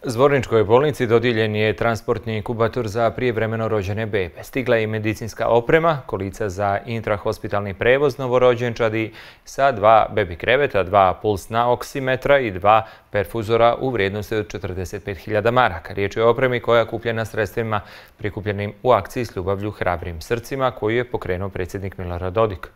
Zvorničkoj bolnici dodijeljen je transportni inkubator za prijevremeno rođene bebe. Stigla je i medicinska oprema, kolica za intrahospitalni prevoz novorođenčadi sa 2 bebi kreveta, 2 pulsna oksimetra i 2 perfuzora u vrijednosti od 45.000 maraka. Riječ je o opremi koja je kupljena sredstvima prikupljenim u akciji S ljubavlju hrabrim srcima koju je pokrenuo predsjednik Milorad Dodik.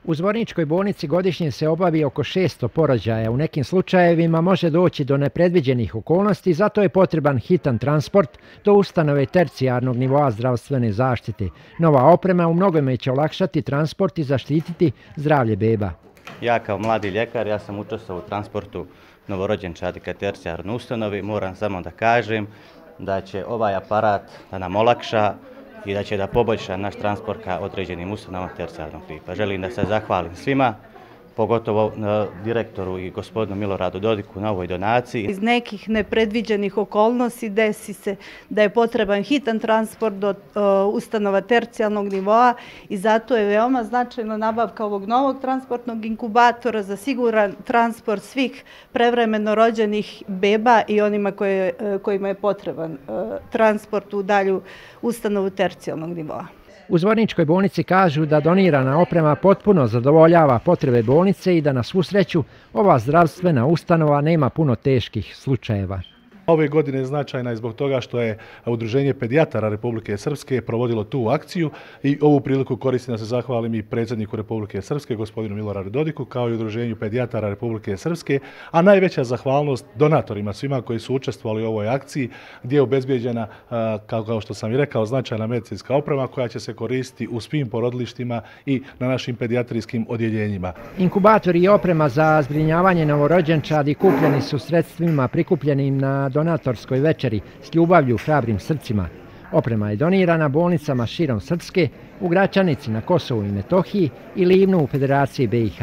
U Zvorničkoj bolnici godišnje se obavi oko 600 porođaja. U nekim slučajevima može doći do nepredviđenih okolnosti, zato je potreban hitan transport do ustanove tercijarnog nivoa zdravstvene zaštite. Nova oprema u mnogome će olakšati transport i zaštititi zdravlje beba. Ja kao mladi ljekar, ja sam učestvovao u transportu novorođenčadi ka tercijarnoj ustanovi. Moram samo da kažem da će ovaj aparat da nam olakša i da će da poboljša naš transport ka određenim ustanovama tercijarnog tipa. Želim da se zahvalim svima, pogotovo direktoru i gospodinu Miloradu Dodiku na ovoj donaciji. Iz nekih nepredviđenih okolnosti desi se da je potreban hitan transport do ustanova tercijarnog nivoa i zato je veoma značajna nabavka ovog novog transportnog inkubatora za siguran transport svih prevremeno rođenih beba i onima kojima je potreban transport u dalju ustanovu tercijarnog nivoa. U Zvorničkoj bolnici kažu da donirana oprema potpuno zadovoljava potrebe bolnice i da na svu sreću ova zdravstvena ustanova nema puno teških slučajeva. Ove godine je značajna i zbog toga što je Udruženje pedijatara Republike Srpske provodilo tu akciju i ovu priliku koristim da se zahvalim i predsjedniku Republike Srpske, gospodinu Miloradu Dodiku, kao i Udruženju pedijatara Republike Srpske, a najveća zahvalnost donatorima, svima koji su učestvovali u ovoj akciji, gdje je obezbijeđena, kao što sam i rekao, značajna medicinska oprema koja će se koristiti u svim porodilištima i na našim pedijatrijskim odjeljenjima. Inkubatori i oprema za zbrinjavanje novorođenčadi kupljeni su sredstvima prikupljenim na donatorskoj večeri S ljubavlju hrabrim srcima. Oprema je donirana bolnicama širom Srpske, u Gračanici na Kosovu i Metohiji i Livnu u Federaciji BiH.